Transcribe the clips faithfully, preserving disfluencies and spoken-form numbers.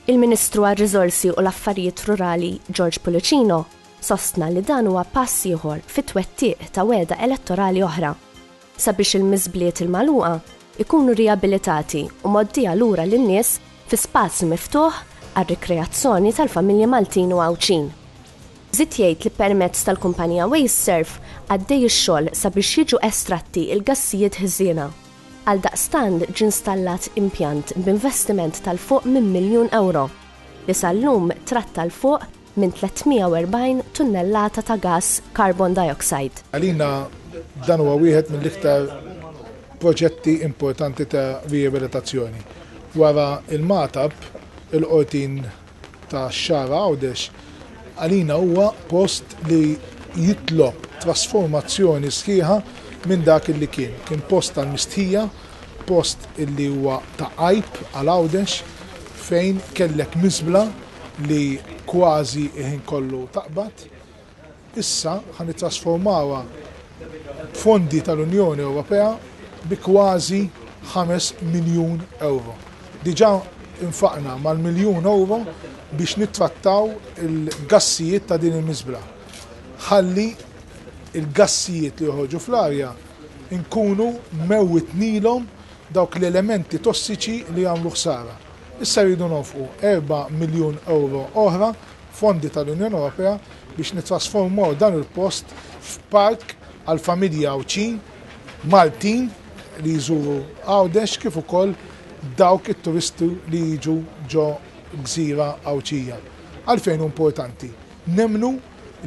Il-Ministru għar-Riżorsi u l-Affarijiet Rurali George Pullicino sostna li dan huwa pass ieħor fit-twettiq ta' wegħda elettorali oħra sabiex il-miżbliet il-magħluqa ikunu riabilitati u mgħoddija lura lin-nies fi spazju miftuħ għar-rikreazzjoni tal-familji Maltin u Għawdxin. Żied jgħid li permezz tal-kumpanija WasteServ għaddej ix-xogħol sabiex jiġu estratti il-gassijiet ħżiena. Għaldaqstant ġie installat impjant b'investiment ta' 'l fuq minn miljun euro li sal-lum tratta 'l fuq minn tliet mija u erbgħin tunnellata ta' gas carbon dioxide. Għalina dan huwa wieħed mill-iktar proġetti importanti ta' riabilitazzjoni. Wara il-Magħtab, il-Qortin tax-Xagħra Għawdex, għalina huwa post li jitlob trasformazzjoni sħiħa minn dak li kien. Kien post tal-mistħija, post illi huwa ta' għajb għal Għawdex, fejn kellek miżbla li kważi ħin kollu taqbad. Issa ħa nittrasformawha b'fondi tal-Unjoni Ewropea bi kważi ħames miljun euro. Diġà infaqna mal-miljun euro biex nittrattaw il-gassijiet ta' din il-miżbla. Ħalli il-gassijiet li joħorġu fl-arja nkunu mewwitnilhom dawk l-elementi tossiċi li jagħmlu ħsara. Issa rridu nonfqu erba' miljun euro oħra fondi tal-Unjoni Ewropea biex nitrasformaw dan il-post f'park għal familji Għawdxin, Maltin li jżuru Għawdex, kif ukoll dawk it-turisti li jiġu ġo gżira Għawdxija. Għalfejn importanti? Nemmnu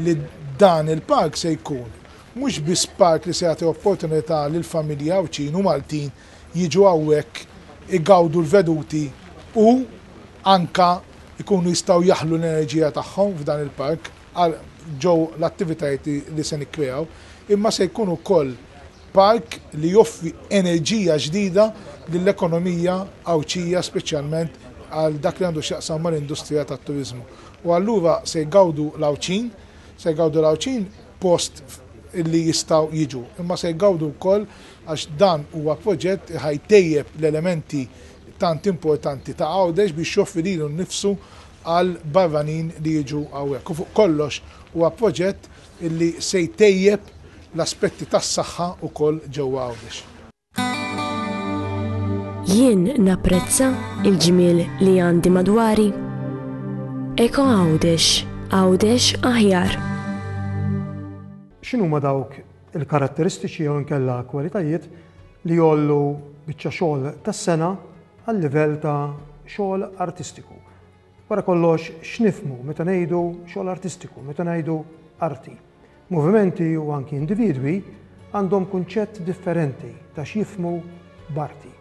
li dan il-park se jkun mhux biss park li se jagħti opportunità lil familji Għawdxin u Maltin jiġu hawnhekk igawdu l-veduti u anka ikunu jistgħu jaħlu l-enerġija tagħhom f'dan il-park ġew l-attivitajiet li se nikkreaw, imma se jkun ukoll park li joffri enerġija ġdida lill-ekonomija Għawdxija, speċjalment għal dak li għandu x'jaqsam mal-industrija tat-turizmu. U allura se jgawdu l-Għawdxin, se jgawdu l-Għawdxin post illi jistgħu jiġu, imma se jgawdu wkoll għax dan huwa proġett ħa jtejjeb l-elementi tant importanti ta' Għawdex biex joffri lilu nnifsu għal barranin li jiġu hawnhekk. U fuq kollox huwa proġett illi se jtejjeb l-aspetti tas-saħħa ukoll ġewwa Għawdex. Jien napprezza il-ġmiel li għandi madwari. Eko Għawdex, Għawdex aħjar. X'inhuma dawk il-karatteristiċi jew inkella kwalitajiet li jgħollu biċċa xogħol tas-sengħa għal livell ta' xogħol artistiku? Wara kollox, x'nifhmu meta ngħidu xogħol artistiku, meta ngħidu arti? Movimenti u anki individwi għandhom kunċett differenti ta' x'jifhmu b'arti.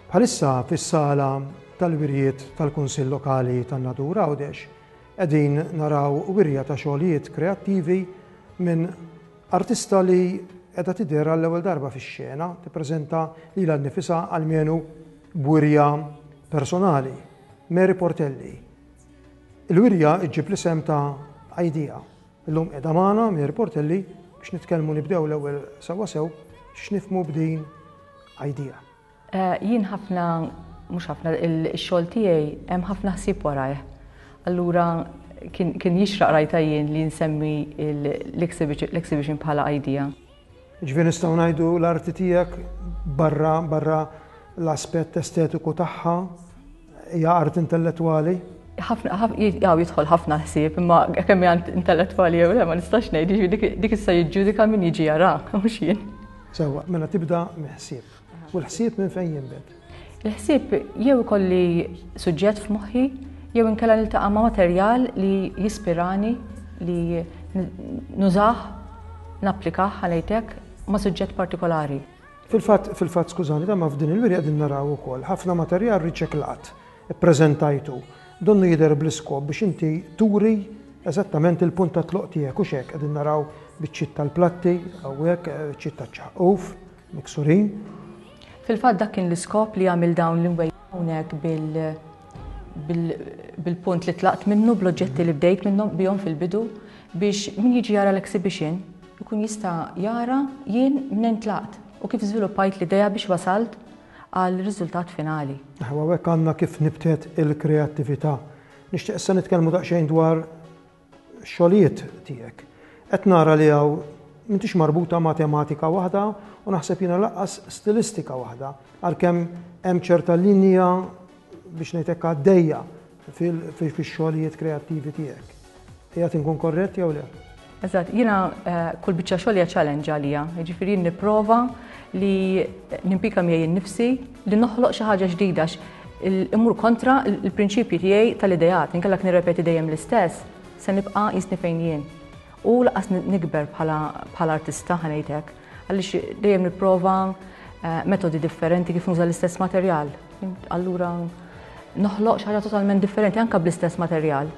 Bħalissa fis-sala tal-wirjiet tal-Kunsill Lokali tan-Nadur Għawdex qegħdin naraw wirja ta' xogħlijiet kreattivi minn artista li qiegħda tidher għall-ewwel darba fix-xena, tippreżenta lilha nnifisha almenu b'wirja personali, Mary Portelli. Il-wirja ġġib l-isem ta' Idea. Illum qiegħda magħna Mary Portelli biex nitkellmu. Nibdew l-ewwel sewwa sew x'nifhmu b'din Idea. Eh, jien ħafna, mhux ħafna, il-xogħol tiegħi hemm ħafna ħsieb warajh. Allura kien jixraq, rajta jien, li nsemmi l-exhibition bħala Idea. Ġifieri nistgħu ngħidu l-arti tiegħek, barra barra l-aspett estetiku tagħha, hija art intellettwali? Ħafna, jaw jidħol ħafna ħsieb, imma kemm hija intellettwali jew le ma nistax ngħid, dik issa jiġġudika min jiġi jara, mhux jien. Sewwa, mela tibda mill-ħsieb. U l-ħsieb minn fejn jinbet? Il-ħsieb jew ikolli suġġett f'moħħi, jew inkella niltaqa' ma' materjal li jispirani li nużah, napplikah għalejtek ma' suġġett partikolari. Fil-fatt, fil-fatt, skużani, ta' ma f'din il-wirja qegħdin naraw ukoll ħafna materjal riċiklat, ippreżentajtu. Donnu jidher bl-iskop biex inti turi eżattament il-punt ta' tluq tiegħek, u hekk qegħdin naraw biċċiet tal-platti, hawnhekk biċċiet ta' ċaqquf, miksurin. Fil-fatt dak kien l-iskop li għamil dawn l-imwejjed hawnhekk bil-punt li tlaqt minnu, bl-oġġetti li bdejt minnhom bihom fil-bidu, biex min jiġi jara l-exhibition ikun jista' jara jien minn tlaqt u kif żviluppajt l-idea biex wasalt għal riżultat finali. Hawnhekk għandna kif nibtet il-kreattività. Nixtieq issa nitkellmu daqsxejn dwar xogħlijiet tiegħek. Qed nara li hawn m'intix marbuta ma' tematika waħda u naħseb jiena lanqas stilistika waħda, għalkemm hemm ċerta linja biex ngħidlek għaddejja fix-xogħlijiet kreattivi tiegħek. Qiegħed inkun korrett jew le? Eżatt, jiena kull biċċa xogħol hija challenge għalija, jiġifieri nipprova li nimpika miegħi nnifsi li noħloq xi ħaġa ġdida immur kontra l-prinċipji tiegħi tal-ideat, inkella nirrepeti dejjem l-istess, se nibqa' jisni fejn jien. U lanqas nikber bħala artista, ħa ngħidlek, għaliex dejjem nipprova metodi differenti kif nuża l-istess materjal. Allura noħloq xi ħaġa totalment differenti anke bl-istess materjal.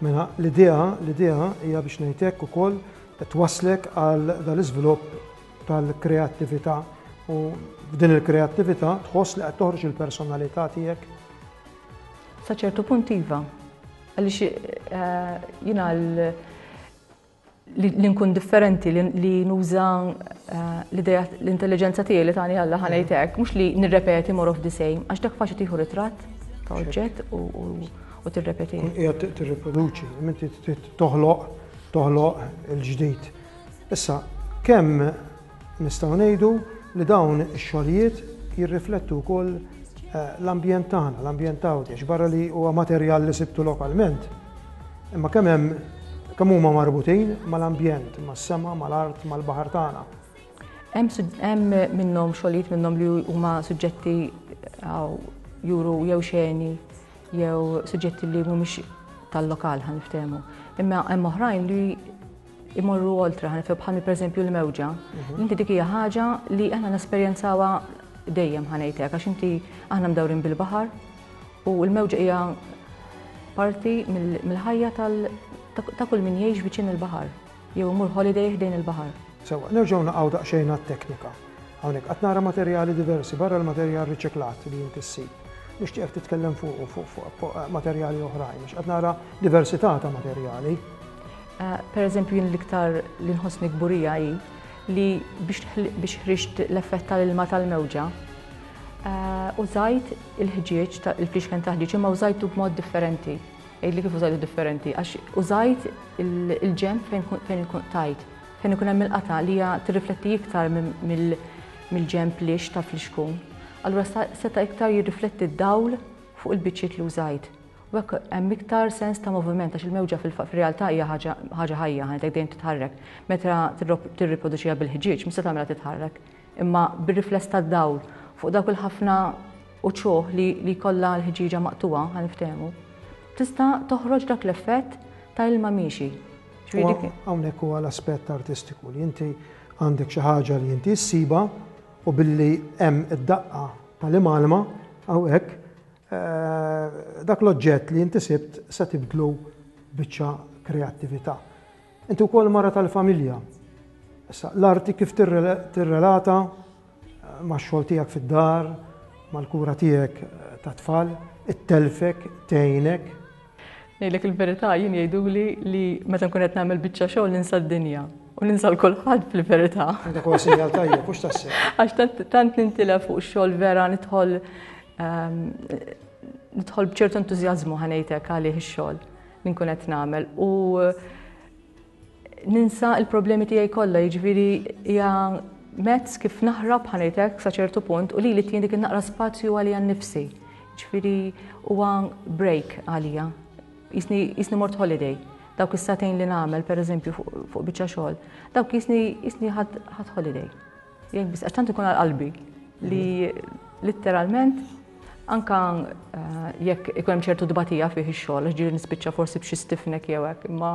Mela l-idea, l-idea hija biex ngħidlek ukoll twasslek għal dal-iżvilupp tal-kreattività u f'din il-kreattività tħoss li qed toħroġ il-personalità tiegħek. Sa ċertu punt iva. Għaliex jiena li nkun differenti, li nuża l-idea, l-intelligenza tiegħi li tani Alla, ħa ngħidlek, mhux li nirrepeti more of the same, għax dak faċli tieħu ritratt ta' oġġett u tirrepeti. Qiegħed tirriproduċi, inti toħloq toħloq il-ġdid. Issa, kemm nistgħu ngħidu li dawn ix-xogħlijiet jirriflettu wkoll l-ambjent tagħna, l-ambjent Għawdex, barra li huwa materjal li sibtu lokalment. Imma kemm hemm kemm huma marbutin mal-ambjent, mas-sema, mal-art, mal-baħar tagħna. Hemm minnhom xogħlijiet minnhom li huma suġġetti juru jew xeni jew suġġetti li mhumiex tal-lokal, ħa niftehmu. Imma hemm oħrajn li imorru oltre, ħa nifhem, bħal pereżempju l-mewġa. Inti dik hija ħaġa li aħna nesperjenzawha dejjem, ħa ngħidlek, għax inti aħna mdawrin bil-baħar u l-mewġa hija parti mill-ħajja ta' kull min jgħix viċin il-baħar jew imur holiday ħdejn il-baħar. Sewwa, nerġgħu naqgħu daqsxejn għat-teknika. Hawnhekk qed nara materjali diversi barra l-materjal riċiklat li inti ssib. Nixtieqek titkellem fuq fuq fuq materjali oħrajn, għax qed nara diversità ta' materjali. Per eżempju, jien l-iktar li nħossni kburija hi li biex ħriġt l-effett tal-ilma tal-mewġa, użajt il-ħġieġ, il-flixken ta' ħġieġ, imma użajtu b'mod differenti. Għidli kif użajtu differenti, għax użajt il-ġenb fejn ikun tajt, fejn ikun hemm il-qata li hija tirrifletti iktar mill-ġenb lix ta' flixkun. Allura seta' iktar jirrifletti d-dawl fuq il-biċċiet li użajt. U hekk hemm iktar sens ta' moviment, għax il-mewġa fil-realtà hija ħaġa ħajja, ħa ngħidlek, dejjem titħarrek. Meta tirriproduċiha bil-ħġieġ, mhux se tagħmilha titħarrek. Imma bir-rifless tad-dawl fuq dawk il-ħafna uċuħ li kollha l-ħġieġa maqtuwa, ħa niftehmu, tista' toħroġ dak l-effett ta' ilma miexi. Hawnhekk huwa l-aspett artistiku li inti għandek xi ħaġa li inti ssiba u billi hemm id-daqqa tal-imalma hawnhekk dak l-oġġett li inti sibt se tibdlu biċċa kreattività. Inti wkoll mara tal-familja. Issa l-arti kif tirrelata max-xogħol tiegħek fid-dar, mal-kura tiegħek ta' tfal, it-telfek, tgħinek? Ngħidlek il-verità, jien jgħiduli li meta nkun qed nagħmel biċċa xogħol ninsa d-dinja u ninsa l kulħadd fil-verità. Dak huwa sinjal tajjeb, mhux tassew? Għax tant nintilef fuq xogħol, vera nidħol nidħol b'ċertu entużjażmu, ħa ngħidlek, għalih ix-xogħol li nkun qed nagħmel u ninsa l-problemi tiegħi kollha, jiġifieri hija mezz kif naħrab, ħa ngħidlek, sa ċertu punt u li li dik naqra spazju għalija nnifsi. Ġifieri huwa break għalija. Jisni mort holiday. Dawk is-sagħtejn li nagħmel pereżempju fuq biċċa xogħol, dawk jisni jisni ħadt holiday. Jien biss għax tant ikun għal qalbi li letteralment anka eh, jekk ikun hemm ċertu dbatija fih ix-xogħol, għax ġieli nispiċċa forsi b'xi stiff neck jew hekk, imma